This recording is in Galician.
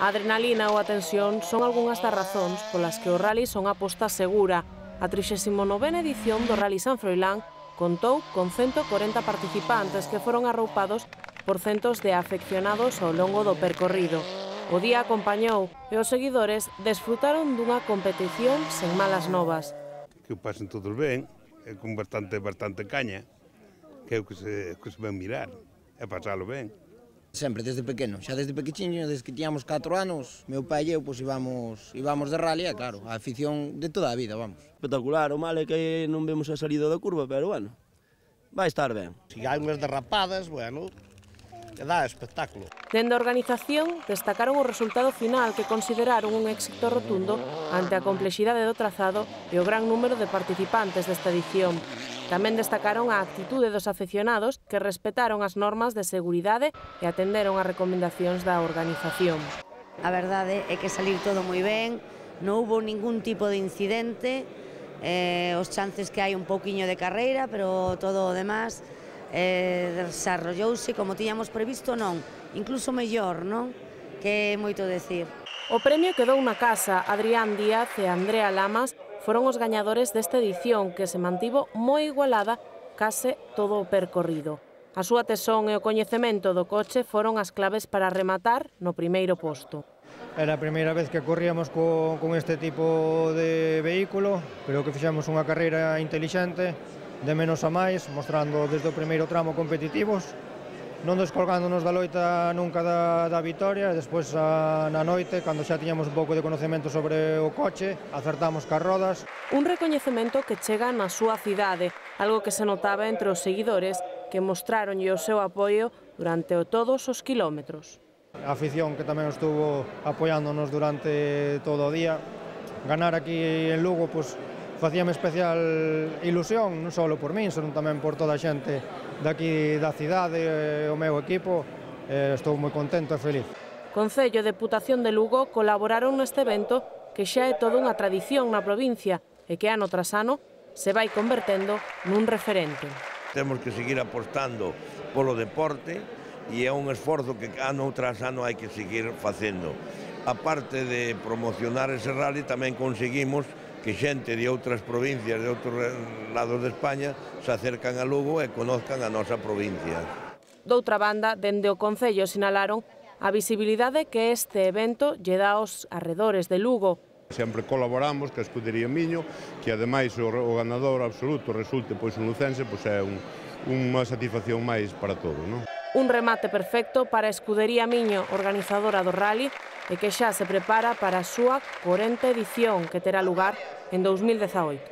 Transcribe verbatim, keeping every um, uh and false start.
A adrenalina ou a tensión son algunhas das razóns polas que o rally son a aposta segura. A trixésima novena edición do Rally San Froilán contou con ciento corenta participantes que foron arroupados por centos de afeccionados ao longo do percorrido. O día acompañou e os seguidores desfrutaron dunha competición sen malas novas. Que o pasen todos ben, e con bastante, bastante caña, que é o que se, que se ven mirar, e pasalo ben. Sempre, desde pequeno, xa desde pequechiño, desde que tiñamos catro anos, meu pai e eu pois, íbamos, íbamos de rally, e claro, a afición de toda a vida, vamos. Espectacular, o mal é que non vemos a salida da curva, pero bueno, vai estar ben. Se hai unhas derrapadas, bueno, que dá espectáculo. Dende a organización destacaron o resultado final que consideraron un éxito rotundo ante a complexidade do trazado e o gran número de participantes desta edición. Tamén destacaron a actitude dos afeccionados que respetaron as normas de seguridade e atenderon as recomendacións da organización. A verdade é que salir todo moi ben, non hubo ningún tipo de incidente, eh, os chances que hai un pouquiño de carreira, pero todo o demás eh, desarrollouse como tiñamos previsto, non, incluso mellor, non? Que é moito decir. O premio quedou na casa. Adrián Díaz e Andrea Lamas foron os gañadores desta edición que se mantivo moi igualada case todo o percorrido. A súa tesón e o coñecemento do coche foron as claves para rematar no primeiro posto. Era a primeira vez que corríamos co, con este tipo de vehículo, pero que fixemos unha carreira intelixente, de menos a máis, mostrando desde o primeiro tramo competitivos, non descolgándonos da loita nunca da, da vitoria, e despois a, na noite, cando xa tiñamos un pouco de conocemento sobre o coche, acertamos cas rodas. Un recoñecemento que chega na súa cidade, algo que se notaba entre os seguidores que mostraronlle o seu apoio durante todos os kilómetros. A afición que tamén estuvo apoiándonos durante todo o día. Ganar aquí en Lugo, pois, facíame especial ilusión, non só por min, senón tamén por toda a xente daqui da cidade, o meu equipo. Estou moi contento e feliz. Concello e Deputación de Lugo colaboraron neste evento que xa é toda unha tradición na provincia e que ano tras ano se vai convertendo nun referente. Temos que seguir apostando polo deporte e é un esforzo que ano tras ano hai que seguir facendo. A parte de promocionar ese rally, tamén conseguimos que xente de outras provincias, de outros lados de España, se acercan a Lugo e conozcan a nosa provincia. Doutra banda, dende o Concello sinalaron a visibilidade que este evento lle dá aos arredores de Lugo. Sempre colaboramos ca Escudería Miño, que ademais o, o ganador absoluto resulte pois un lucense, pois é un, unha satisfacción máis para todos, non? Un remate perfecto para a Escudería Miño, organizadora do rally, e que xa se prepara para a súa corenta edición que terá lugar en dous mil dezaoito.